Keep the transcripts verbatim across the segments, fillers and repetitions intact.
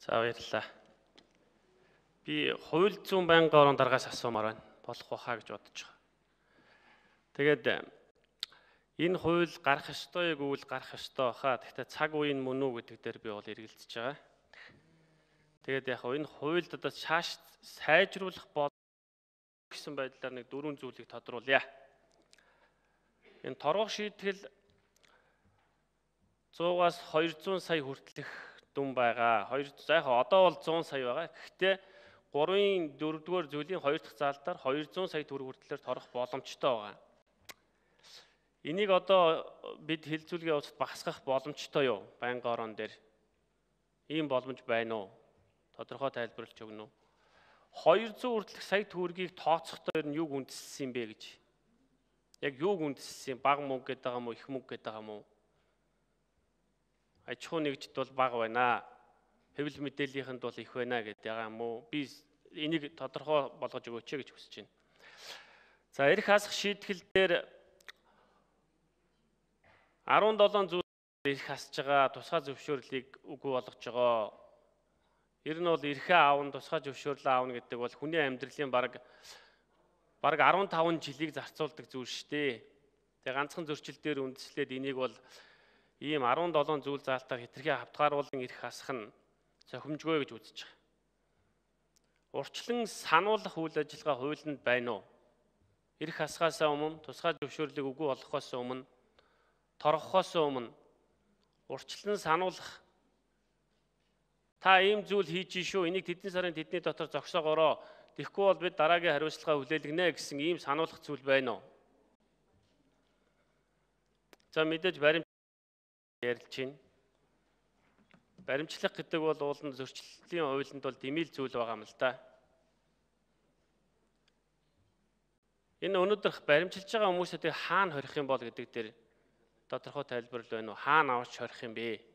За баярлалаа. Би хууль зүйн байнгын орон дараагаас асуумаар байна. Болох байхаа гэж бодож байгаа. Тэгээд энэ хууль гарах ёстой гэвэл гарах ёстой хаа. Гэхдээ цаг үеийн мөн үү гэдэг дээр би бол эргэлзэж байгаа. Тэгээд яг энэ хуульд одоо шааш сайжруулах бол гэсэн байдлаар нэг дөрвөн зүйлийг тодруулъя. Энэ торгох шийтгэл зуугаас хоёр зуун сая хүртэлх дүн байгаа. хоёр зайхаа одоо бол зуун сая байгаа. Гэхдээ гурвын дөрөвдүгээр зүйлийн хоёр дахь заалтаар хоёр зуун сая төгрөг хүртэлээр торгох боломжтой байгаа. Энийг одоо бид хэлцүүлгийн явцад багасгах боломжтой юу? Байнгын орон дээр ийм боломж байна уу? Тодорхой тайлбарлаж өгнө үү? хоёр зуун хүртэлх сая төгрөгийг тооцохдоо ер нь юуг үндэслсэн юм бэ гэж. Яг юуг үндэслсэн? Бага мөнгө гэдэг юм уу, их мөнгө гэдэг юм уу? Аж ахуй нэгжид бол бага байна. Хэвлэл мэдээллийнхэнд бол их байна гэдэг юм уу? Би энийг тодорхой болгож өгөөч гэж хүсэж байна. За эрх хасах шийтгэл дээр арван долоон зүйл эрх хасж байгаа тусгай зөвшөөрлийг үгүй болгож байгаа. Ер нь бол эрхээ аавн тусгай зөвшөөрлөө аавна гэдэг бол хүний амьдралын бараг бараг арван таван жилийг зарцуулдаг зүйл шүү дээ. Тэгээ ганцхан зөрчил дээр үндэслээд энийг бол ийм арван долоон зүйл заалтаар хэтэрхий хавтгааруулан эрх хасах нь зохимжгүй гэж үзэж байгаа. Урьдчилан сануулгах үйл ажиллагаа хуулинд байна уу? Эрх хасахаас өмнө, тусгай зөвшөөрлийг үгүй болгохоос өмнө, торгохоос өмнө урьдчилан сануулгах. Та ийм зүйл хийж шүү, энийг тэдний сарын тэдний дотор зогсоогоороо. Тэгэхгүй бол бид дараагийн хариуцлагаа хүлээлгэнэ гэсэн ийм сануулгах зүйл байна уу? За мэдээж баримт ярилж байна. Баримтлах гэдэг бол уулын зөрчлийн хуулинд бол дэмэл зүйл байгаа юм л да. Энэ өнөөдөр баримтжилж байгаа хүмүүсээ хаана хорих юм бол гэдэг дээр тодорхой тайлбар байна уу? Хаана авч хорих юм бэ?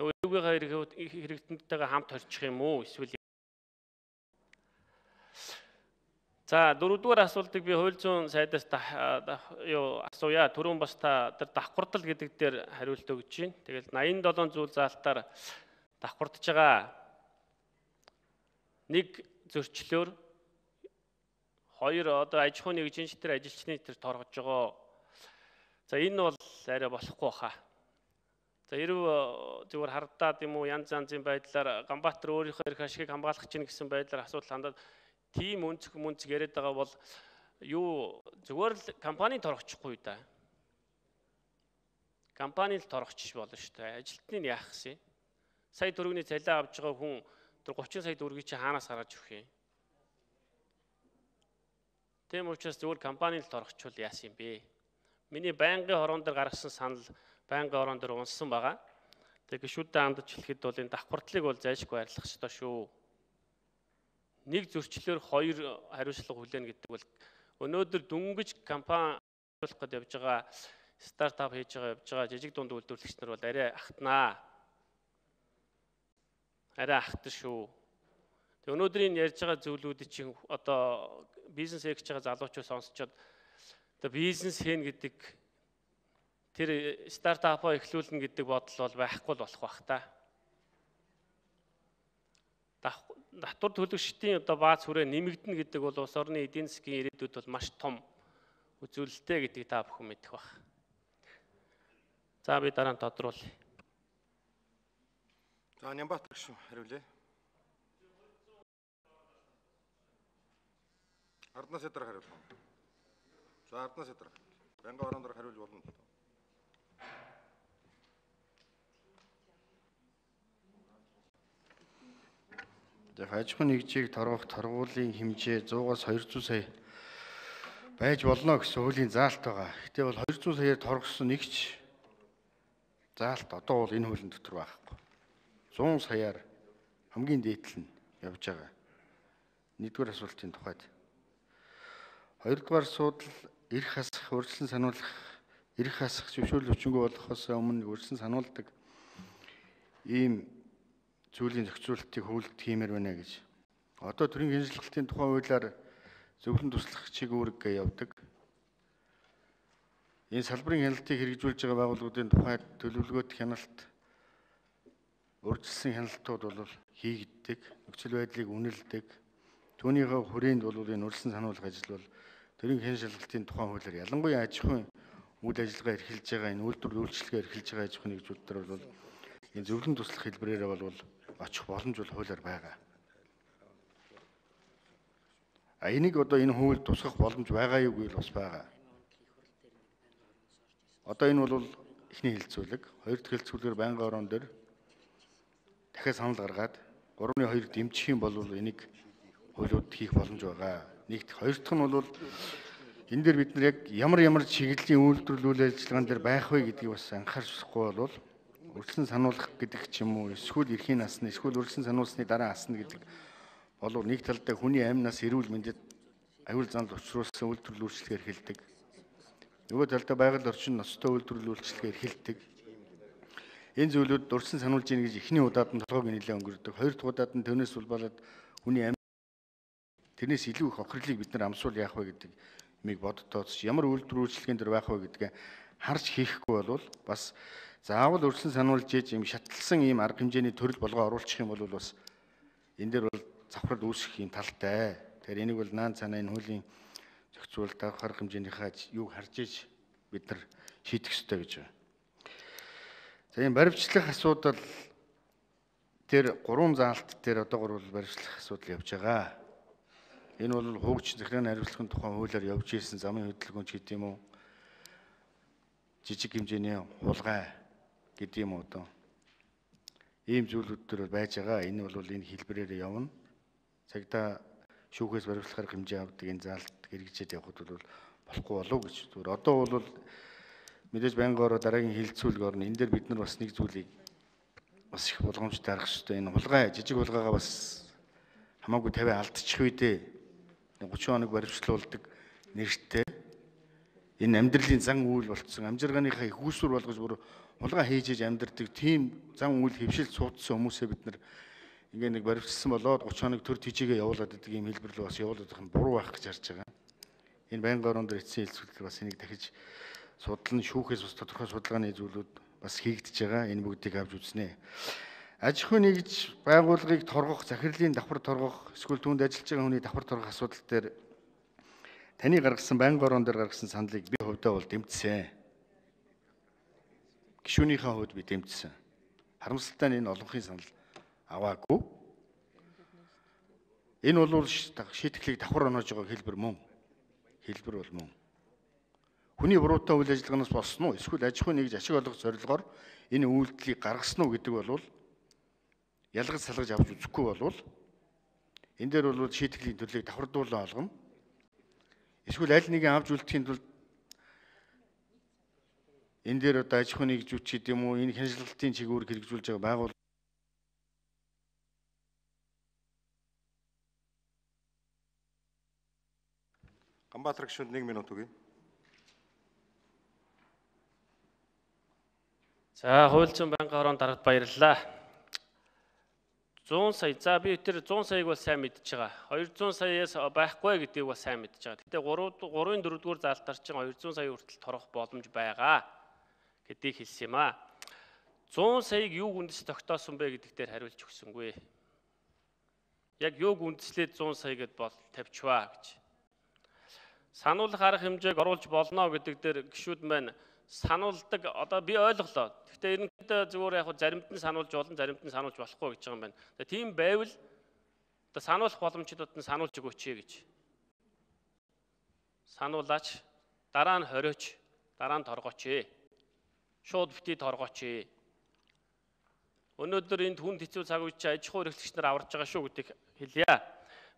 Нөгөө юугийнхаа хэрэгтэнтэйгээ хамт хорчих юм уу? Эсвэл за дөрөвдүгээр асуултыг би хууль зүйн сайдаас юу асууя. Түрүүн бас та тэр давхурдал гэдэг дээр хариулт өгч байна. Тэгэл найман долоон зүйл заалтаар давхурдж байгаа нэг зөрчлөөр хоёр одоо аж ахуйн нэгжийн тэр ажилчны тэр торгож байгаа. За энэ бол арай болохгүй хаа. За хэрв зүгээр хардаад юм уу янз янзын байдлаар Ганбаатар өөрийнхөө эрх ашигыг хамгаалах чинь гэсэн байдлаар асуудал хандаад тийм үнцэг мүнцэг яриад байгаа бол юу зүгээр л компани торгочихгүй да. Компани л торгочих болно шүү дээ. Ажилтныг яах гэсэн. Сая төгрөгийн цалин авч байгаа хүн тэр гучин сая төгрөгийг чи хаанаас гаргаж өгөх юм? Тийм учраас зүгээр компани л торгочихвол яасан юм бэ? Миний байнгын хорон дээр гаргасан санал байнгын хорон дээр унсан байгаа. Тэгээ гишүүдтэй хандаж хэлэхэд бол энэ давхардлыг бол зайлшгүй арилгах ёстой шүү. Нэг зөрчлөөр хоёр хариуцлага хүлээнэ гэдэг бол өнөөдөр дөнгөж компани ажиллах гэж явж байгаа стартап хийж байгаа явж байгаа жижиг дунд үйлдвэрлэгч нар бол арай ахтнаа. Арай ахтар шүү. Тэг өнөөдрийн ярьж байгаа зүйлүүдийг чинь одоо бизнес хийж байгаа залуучууд сонсчод одоо бизнес хийн гэдэг тэр стартапаа эхлүүлнэ гэдэг бодол бол байхгүй л болох бах та. Татвар төлөгчдийн одоо бааз хүрээ нэмэгдэнэ гэдэг бол улс орны эдийн засгийн ирээдүйд бол маш том үзүүлэлттэй гэдгийг та бүхэн мэдэх бах. За би дараа нь тодруулъя. За Нямбатар гүшүүн хариулъя. Арднаас эдэр хариулна. За Арднаас эдэр. Байнгын орон дээр хариулж болно. Аж ахуйн нэгжийг торгох торгуулийн хэмжээ зуугаас хоёр зуун сая байж болно гэсэн хуулийн заалт байгаа. Гэтэ бол хоёр зуун саяар торгосон нэгч заалт одоо бол энэ хуулийн дотор байхгүй. сто саяар хамгийн дээдл нь явж байгаа. Нэгдүгээр асуултын тухайд. Хоёрдугаар асуудал эрх хасах, урьдчилан сануулгах, эрх хасах зөвшөөрөл өчнгөө болохоос өмнө урьдчилан сануулдаг ийм зүйлийн зохицуулалтыг хуулинд хиймээр байна гэж. Одоо төрийн хяналтын тухай хуулиар зөвлөн туслах чиглэлг явдаг. Энэ салбарын хяналтыг хэрэгжүүлж байгаа байгууллагуудын тухайд төлөвлөгөөт хяналт урьдчилсан хяналтууд бол хийгддэг, нөхцөл байдлыг үнэлдэг. Түүнийхээ хүрээнд бол энэ урьдчилсан сануулгах ажил бол төрийн хэн шалгалтын тухайн хуулиар ялангуяа аж ахуйн үйл ажиллагаа эрхэлж байгаа энэ үйлдвэрлэл үйлчлэгээ эрхэлж байгаа аж ахуйн нэгжүүд дээр бол энэ зөвлөн туслах хэлбэрээр бол очих боломж бол хуулиар байгаа. А энийг одоо энэ хууль тусгах боломж байгаа юу гэвэл бас байгаа. Одоо энэ бол эхний хэлцүүлэг, хоёр дахь хэлцүүлгээр байнгын орон дээр дахиад санал гаргаад гурван хоёр дэмжих юм бол энийг хуулиуд хийх боломж байгаа. Нэгт хоёр дахь нь бол энэ дээр бид нар яг ямар ямар чиглэлийн үйлдвэрлэл үйл ажиллагаан дээр байх вэ гэдгийг бас анхаарахгүй бол урьдчилан сануулгах гэдэг ч юм уу эсвэл эрхийн насны эсвэл урьдчилан сануулсны дараа асна гэдэг болов нэг талдаа хүний амь нас эрүүл мэндэд аюул занал учруулсан үйлдвэрлэл үйлчлэгээр эхэлдэг. Нөгөө талдаа байгаль орчин ностой үйлдвэрлэл үйлчлэгээр эхэлдэг. Энэ зүйлүүд урьдчилан сануулж ийн гэж эхний удаад нь толгойг нэлээд өнгөрдөг. Хоёр дахь удаад нь төнөөс улбалаад хүний амь тэрнээс илүү их охирлыг бид нар амсуул яах вэ гэдэг юмыг боддоос ямар үйлдвэрлэл үйлчлэгийн дээр байх вэ гэдгээ харж хийхгүй бол бас заавал урьдчилан сануулж ээж юм шатлсан ийм арга хэмжээний төрөл болгоо оруулах юм бол бас энэ дээр бол завхрал үүсэх юм талтай. Тэгэхээр энийг бол наан цаана энэ хуулийн зохицуул давх арга хэмжээнийхээ юуг харж иж бид нар шийдэх ёстой гэж байна. За энэ баримтчлах асуудал тэр гурван заалт дээр одоо гурван баримтчлах асуудал явж байгаа. Энэ бол хуугч захиргааны хариуцлагын тухайн хуулиар явж ирсэн замын хөдөлгөөнч гэдэг юм уу? Жижиг хэмжээний хулгай гэдэг юм уу одоо? Ийм зүйлүүд төр байж байгаа. Энэ бол энэ хэлбэрээр явна. Цагдаа шүүхээс баримтлахаар хэмжээ авдаг энэ заалт хэрэгжээд явхад бол болохгүй болов гэж. Зүгээр одоо бол мэдээж байнгын ороо дараагийн хилцүүлэг орно. Энэ дээр бид нар бас нэг зүйлийг бас их болгоомжтой харах хэрэгтэй. Энэ хулгай, жижиг хулгайгаа бас хамаагүй тавиа алдчих үедээ гурван хоног баримтлуулдаг нэртэй энэ амьдралын зан үйл болцсон амжиргааныхаа их үүсвэр болгож бүр хулгай хийж иж амьдардаг тийм зан үйл хөвшил цуудсан хүмүүсээ бид нар ингээ нэг баримтсан болоод гурван хоног төр тийчээгээ явуулаад байдаг юм хэлбэрлэл бас явуулаад байх нь буруу байх гэж харж байгаа. Энэ байнгын орон дээр эцсийн хэлцүүлэлт бас энийг дахиж судлан шүүхээс бас тодорхой судалгааны зүйлүүд бас хийгдэж байгаа. Энэ бүгдийг авч үзнэ. Аж ахуйн нэгж байгууллагыг торгох, захирлын давхар торгох, эсвэл түүнд ажиллаж байгаа хүний давхар торгох асуудал дээр таны гаргасан байнгын орон дээр гаргасан саналыг би хувьдаа бол дэмжсэн. Гишүүнийхээ хувьд би дэмжсэн. Харамсалтай нь энэ олонхын санал аваагүй. Энэ бол шийтгэлийг давхар оноож байгаа хэлбэр мөн. Хэлбэр бол мөн. Хүний буруутай үйл ажиллагаанаас болсон уу? Эсвэл аж ахуйн нэгж ашиг олгох зорилгоор энэ үйлдэлийг гаргасан уу гэдэг бол ялгаж салгаж авч үзэхгүй болвол энэ дээр бол шийтгэлийн төрлийг давхардуулан олгоно. Эсвэл аль нэгэн авч үлдэхийн тулд энэ дээр одоо аж ахуйн нэгжүүч гэдэг юм уу энэ хяншилтын чиглэлээр хэрэгжүүлж байгаа байгууллага Ганбаатар гишүүнд нэг минут өгье. За хууль зүйн байнгын орон дарагт баярлалаа. зуун сая. За би тэр зуун саяыг бол сайн мэдж байгаа. хоёр зуун саяас байхгүй гэдгийг бол сайн мэдж байгаа. Гэтэ гурван дөрөвдүгээр заалтаар чинь хоёр зуун сая хүртэл торгох боломж байгаа гэдгийг хэлсэн юм аа. зуун саяыг юуг үндэс тогтоосон бэ гэдэг дээр хариулж өгсөнгүй. Яг юуг үндэслээд зуун сая гэд бол тавьчваа гэж. Сануулгах арга хэмжээг оруулж болно гэдэг дээр гишүүд маань сануулдаг одоо би ойлголоо. Гэхдээ ерөнхийдөө зүгээр яг заримд нь сануулж болно, заримд нь сануулж болохгүй гэж байгаа юм байна. Тэгээ тийм байвал одоо сануулах боломжуудад нь сануулж өгөөч гэж. Сануулаач, дараа нь хориоч, дараа нь торгооч. Шууд бити торгооч. Өнөөдөр энд хүнд хэцүү цаг үед аж ахуй эрхлэгч нар аварж байгаа шүү гэдгийг хэлье.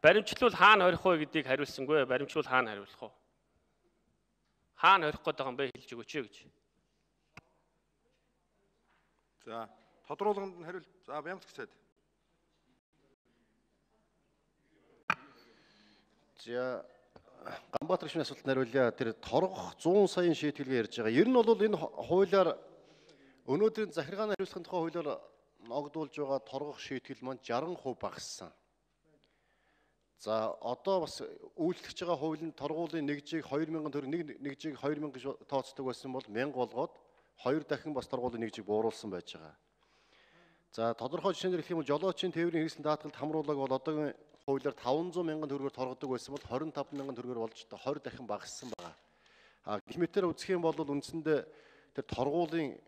Баримтлал хаана хорих вэ гэдгийг хариулсангүй. Баримтлал хаана хариулах вэ? Хаана хорих гээд байгаа юм бэ хэлж өгөөч гэж. За, тодруулганд нь хариул. За, Бямцэг цаад. За, Ганбаатар гишүүний асуултанд хариулъя. Тэр торгох зуун саяын шийтгэлгээ ярьж байгаа. Ер нь бол энэ хуулиар өнөөдрийн захиргааны хариуцлагын тухай хуулиар ногдуулж байгаа торгох шийтгэл маань саран хувь багассан. За одоо бас үйлчлэж байгаа хуулийн торгуулийн нэгжийг хоёр мянган төгрөг нэг нэгжийг хоёр мянга гэж тооцдог байсан бол мянга болгоод хоёр дахин бас торгуулийн нэгжийг бууруулсан байж байгаа. За тодорхой жишээнээр хэлэх юм бол жолоочийн тээврийн хэрэгсэл даатгалд хамруулаг бол одоогийн хуулиар таван зуун мянган төгрөгөөр торгодог байсан бол хорин тав мянган төгрөгөөр болж хоёр дахин багассан байна. А гэх мэтээр үзэх юм бол үндсэндээ тэр торгуулийн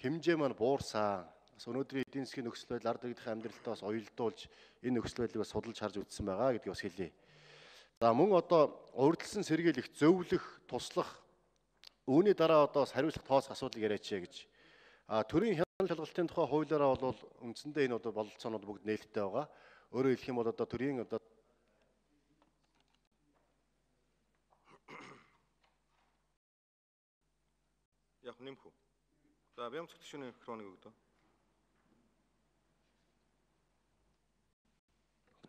хэмжээ маань буурсан. Бас өнөөдрийн эдийн засгийн нөхцөл байдал ард иргэдийн амьдралтаа бас уялдуулж энэ нөхцөл байдлыг бас судалж харж үзсэн байгаа гэдгийг бас хэлье. За мөн одоо урьдчилан сэргийлэх, зөвлөх, туслах үүний дараа одоо бас хариуцлага тооцох асуудлыг яриач гэж. А төрийн хяналт шалгалтын тухай хуулиараа бол үндсэндээ энэ одоо бололцоонууд бүгд нээлттэй байгаа. Өөрөөр хэлэх юм бол одоо төрийн одоо Яг нэмэх үү. За бям цогцны микрофоныг өгдөө.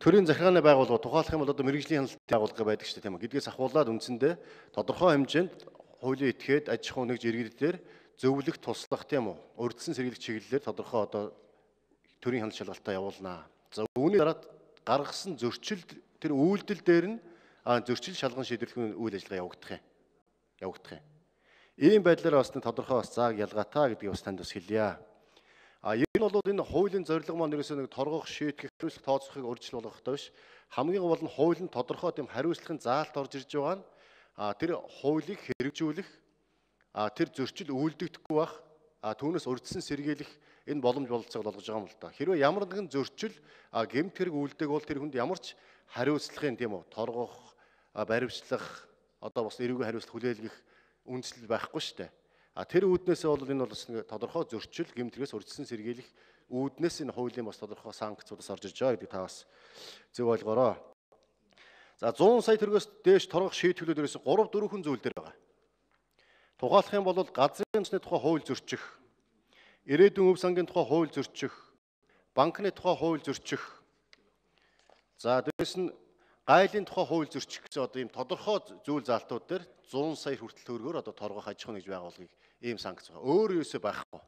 төрийн захиргааны байгууллага тухайлах юм бол одоо мэрэгжлийн хяналтын байгууллага байдаг шүү дээ тийм үү. Гэдгээс ахуулаад үндсэндээ тодорхой хэмжээнд хуулийн этгээд аж ахуй нэгж иргэдээр зөвлөх, туслах тийм үү. Урьдчилан сэргийлэх чиглэлээр тодорхой одоо төрийн хяналт шалгалтаа явуулнаа. За үүний дараа гаргасан зөрчил тэр үйлдэл дээр нь зөрчил шалган шийдвэрлэх үйл ажиллагаа явагдах юм. Явагдах юм. Ийм байдлаар бас тодорхой бас зааг ялгаатай гэдгийг бас танд бас хэлье. А энэ нь бол энэ хуулийн зорилго маань ерөөсөө нэг торгох, шийтгэх, хариуцлага тооцохыг урьдчил болгохтой биш. Хамгийн гол нь хуулийн тодорхой тийм хариуцлагын заалт орж ирж байгаа нь а тэр хуулийг хэрэгжүүлэх, а тэр зөрчил үйлдэгдэхгүй байх, а түүнээс урьдчилан сэргийлэх энэ боломж бололцоог олгож байгаа юм л да. Хэрвээ ямар нэгэн зөрчил а гэмт хэрэг үйлдэг бол тэр хүнд ямар ч хариуцлагын тийм үү торгох, баривчлах, одоо бас эрүүгийн хариуцлага хүлээлгэх үндэслэл байхгүй шүү дээ. А тэр үүднээсээ бол энэ бол бас нэг тодорхой зөрчил гэмтрээс урьдчилан сэргийлэх үүднээс энэ хуулийн бас тодорхой санкцуудаас орж иж байгаа гэдгийг та бас зөв ойлгоорой. За зуун сая төгрөгөөс дээш торгох шийтгэлүүд ерөөсө гурав дөрвөн зүйл дээр байгаа. Тухайлах юм бол газрын төсний тухай хууль зөрчих, ирээдүйн өв сангийн тухай хууль зөрчих, банкны тухай хууль зөрчих. За дээрэс нь гайлын тухай хууль зөрчих гэсэн одоо ийм тодорхой зүйл заалтууд дээр зуун сая хүртэл төгрөгөөр одоо торгох аж ахуй нэгж байгууллагыг ийм санкц байгаа. Өөр юусоо байхгүй.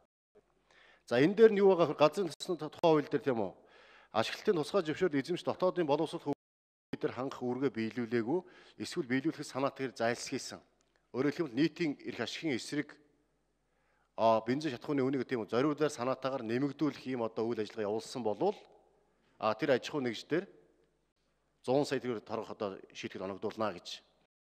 За энэ дээр нь юу байгаа вэ? Газрын төсний тухай хууль дээр тийм үү? Ашиглалтын тусгай зөвшөөрөл эзэмш дотоодын боловсрол дээр хангах үүргээ биелүүлээгүй, эсвэл биелүүлэх санаатаар зайлсхийсэн. Өөрөөр хэлбэл нийтийн эрх ашигын эсрэг а бензин шатхууны үнийг тийм үү зориулаар санаатаагаар нэмэгдүүлэх ийм одоо үйл ажиллагаа явуулсан болвол а тэр аж ахуй нэгж дээр зуун сая төгрөг торгох одоо шийтгэл оногдуулна гэж